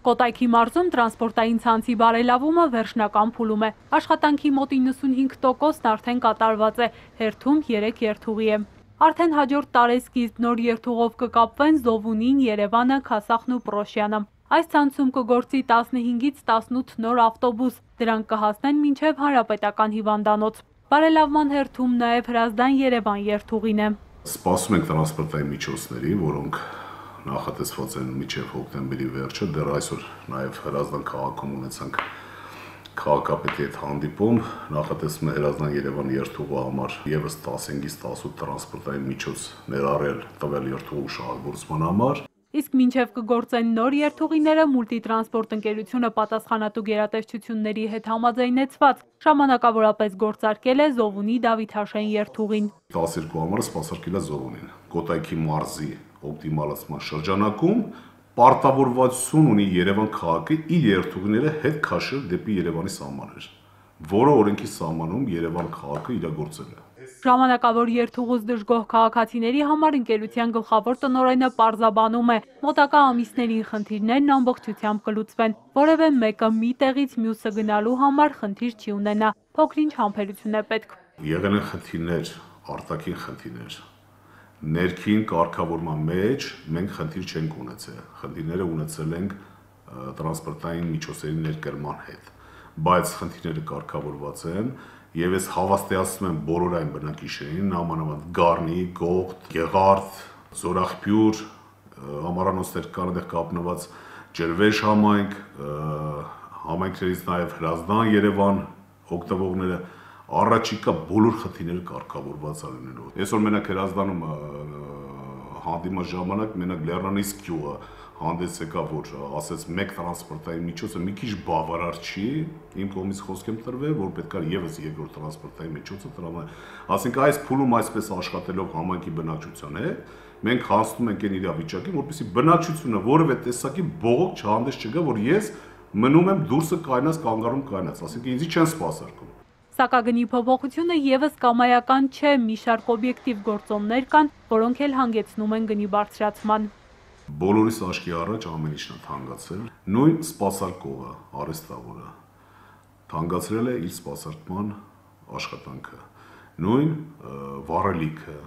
Կոտայքի մարզում տրանսպորտային ցանցի բարելավումը վերջնական փուլում է։ Աշխատանքի մոտ 95%-ն արդեն կատարված է, հերթում 3 երթուղի է։ Արդեն հաջորդ տարեսկիզբ նոր երթուղով կկապվեն Զովունին, Երևանը, Քասախն ու Պրոշյանը։ Այս ցանցում կգործի 15-ից 18 նոր ավտոբուս, դրանք կհասնեն մինչև Հանրապետական հիվանդանոց։ Բարելավման հերթում նաև Հրազդան-Երևան երթուղին է։ Սպասում ենք տրանսպորտային միջոցների, որոնք նախատեսված են մինչև հոկտեմբերի վերջը, դեռ այսօր նաև Հրազդան քաղաքում ունեցանք քաղաքապետի հետ հանդիպում, նախատեսվում է Հրազդան-Երևան երթուղու համար եւս 15-ից 18 տրանսպորտային միջոց ներառել տվյալ երթուղու շահագործման համար։ Իսկ մինչև կգործեն նոր երթուղիները, Մուլտիտրանսպորտ ընկերությունը պատասխանատու գերատեսչությունների հետ համաձայնեցված ժամանակավորապես գործարկել է Զովունի Դավիթաշեն երթուղին։ 12 համարը սպասարկել է Զովունին։ Կոտայքի մարզի օպտիմալացման շրջանակում պարտավորվածություն ունի Երևան քաղաքը իր երթուղիները հետ քաշել դեպի Երևանի սահմաններ, որը օրենքի սահմանում Երևան քաղաքը իրագործել է։ Ժամանակավոր երթուղուց դժգոհ քաղաքացիների համար ընկերության գլխավոր տնօրենը պարզաբանում է, մոտակա ամիսներին խնդիրներն ամբողջությամբ կլուծվեն, որևէ մեկը մի տեղից մյուսը գնալու համար խնդիր չի ունենա, փոքրինչ համբերություն է պետք։ Եղել են խնդիրներ, արտաքին խնդիրներ։ Ներքին կարգավորման մեջ մենք խնդիր չենք ունեցել, խնդիրները ունեցել ենք տրանսպորտային միջոցների ներկրման հետ, բայց խնդիրները կարգավորված են եւ ես հավաստիացնում եմ բոլոր այն բնակիչներին, նամանավանդ Գառնի, Գողթ, Գեղարդ, Զորախպյուր, ամառանոցներ կան այդտեղ կապնված Ջրվեժ համայնք, համայնքներից նաեւ Հրազդան, Երևան օգտվողները առաջիկա բոլոր խնդիրները կարգավորված լինելու։ Այսօր մենակ Հրազդանում հանդիման ժամանակ մենակ Լեռնանիսկ գյուղը հանդես եկավ, որ ասեց մեկ տրանսպորտային միջոցը մի քիչ բավարար չի, իմ կողմից խոսք եմ տրվել, որ պետք է եւս երկրորդ տրանսպորտային միջոցը տրամադրել։ Ասենք այս փուլում այսպես աշխատելով համայնքի բնակչության հետ, մենք հասնում ենք այն իրավիճակին, որպեսզի բնակչությունը որևէ տեսակի բողոք չհանդես չգա, որ ես մնում եմ դուրսը կայնած, կանգառում կայնած, ասենք ինձի չեն սպասարկում։ Սակագնի փոփոխությունը եւս կամայական չէ, մի շարք օբյեկտիվ գործոններ կան, որոնք էլ հանգեցնում են գնի բարձրացման։ Բոլորիս աչքի առաջ ամեն ինչն է թանկացել, նույն սպասարկողը, արհեստավորը թանկացրել է իր սպասարկման աշխատանքը, նույն վառելիքը,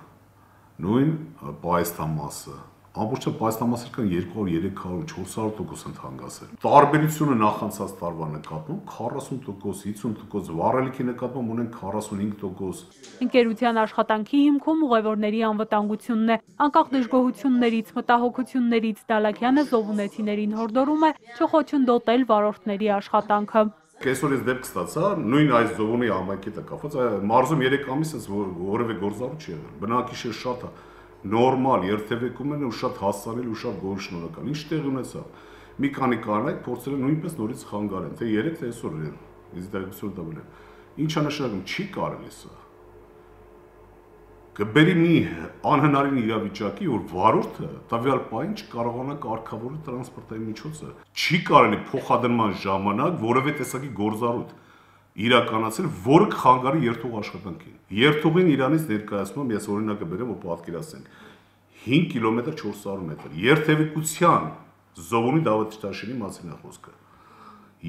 նույն պայեստամասը, ամբողջը պայեստամասը կան 200, 300, 400% են թանկացել։ Տարբերությունը նախանցած տարվա նկատմամբ 40%, 50%, վառելիքի նկատմամբ ունենք 45%։ Ընկերության աշխատանքի հիմքում ուղևորների անվտանգությունն է, անկախ դժգոհություններից, մտահոգություններից Դալաքյանը զովունեցիներին հորդորում է չխոչընդոտել վարորդների աշխատանքը։ Այսօր ես դեպք ստացա, նույն այս Զովունի համայնքի հետ կապված, մարզում 3 ամիս է որևէ գործառույթ չի եղել։ Բնակիչը շատ է նորմալ երթևեկում են ու շատ հասարել ու շատ գոհ շնորհակալ։ Ինչ տեղ ունեցավ։ Մի քանի կանայք փորձել են նույնպես նորից խանգարեն, թե 3 թե այսօր ինձ տեղեկություն տվել են։ Ինչա նշանակում չի կարելի սա։ Կբերի մի անհնարին իրավիճակի, որ վարորդը տվյալ պահին չկարողանա կարգավորել տրանսպորտային միջոցը։ Չի կարելի փոխադրման ժամանակ որևէ տեսակի գործառույթ իրականացել, որը կխանգարի երթուղ աշխատանքին։ Երթուղին իրանից ներկայացնում ես օրինակը բերեմ, որ պատկերացնենք 5 կիլոմետր 400 մետր։ Երթևեկության Զովունի Դավիթաշենի մասին է խոսքը։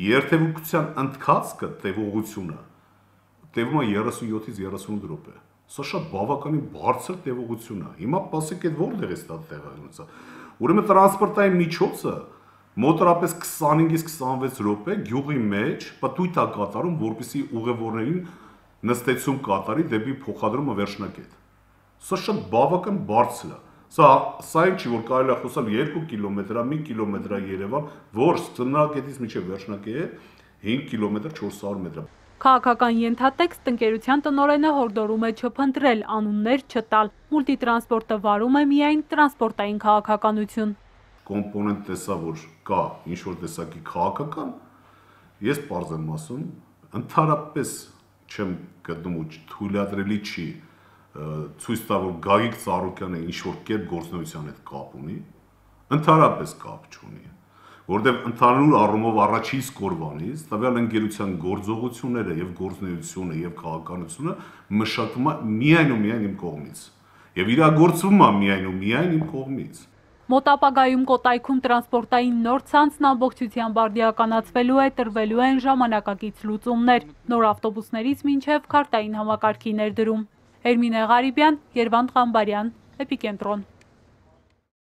Երթևեկության ընթացքը տևողությունը տևում է 37-ից 38 րոպե։ Սա շատ բավականին բարձր տևողություն է։ Հիմա ասեք այդ որտեղ է ստա տեղանոցը։ Ուրեմն տրանսպորտային միջոցը մոտորապես 25-ից 26 րոպե գյուղի մեջ պտույտ է կատարում, որպեսզի ուղևորներին նստեցում կատարի դեպի փոխադրումը վերջնակետ։ Սա շատ բավական բարձր է։ Սա ինչ որ կարելի է խոսալ 2 կիլոմետր, 1 կիլոմետր Երևան, որ ծննդակետից մինչև վերջնակետ 5 կիլոմետր 400 մետր։ Քաղաքական ենթատեքստ ընկերության տնօրենը հորդորում է չփնտրել, անուններ չտալ։ Մուլտիտրանսպորտը վարում է միայն տրանսպորտային քաղաքականություն։ Կոմպոնենտ տեսա, որ կա ինչ-որ տեսակի քաղաքական, ես պարզ եմ ասում, ընդհանրապես չեմ գտնում ու թույլատրելի չի ցույց տա, որ Գագիկ Ծառուկյանը ինչ-որ կերպ գործնության հետ կապ ունի, ընդհանրապես կապ չունի, որտեղ ընդհանուր առումով առաջին սկորվանից տվյալ ընկերության գործողությունները եւ գործունեությունը եւ քաղաքականությունը մշակվում է միայն ու միայն իմ կողմից եւ իրագործվում է միայն ու միայն իմ կողմից։ Մոտ ապագայում Կոտայքում տրանսպորտային նոր ցանցն ամբողջությամբ արդիականացվելու է, տրվելու են ժամանակակից լուծումներ, նոր ավտոբուսներից մինչև քարտային համակարգի ներդրում։ Էրմինե Ղարիբյան, Երվանդ Ղամբարյան, Էպիկենտրոն։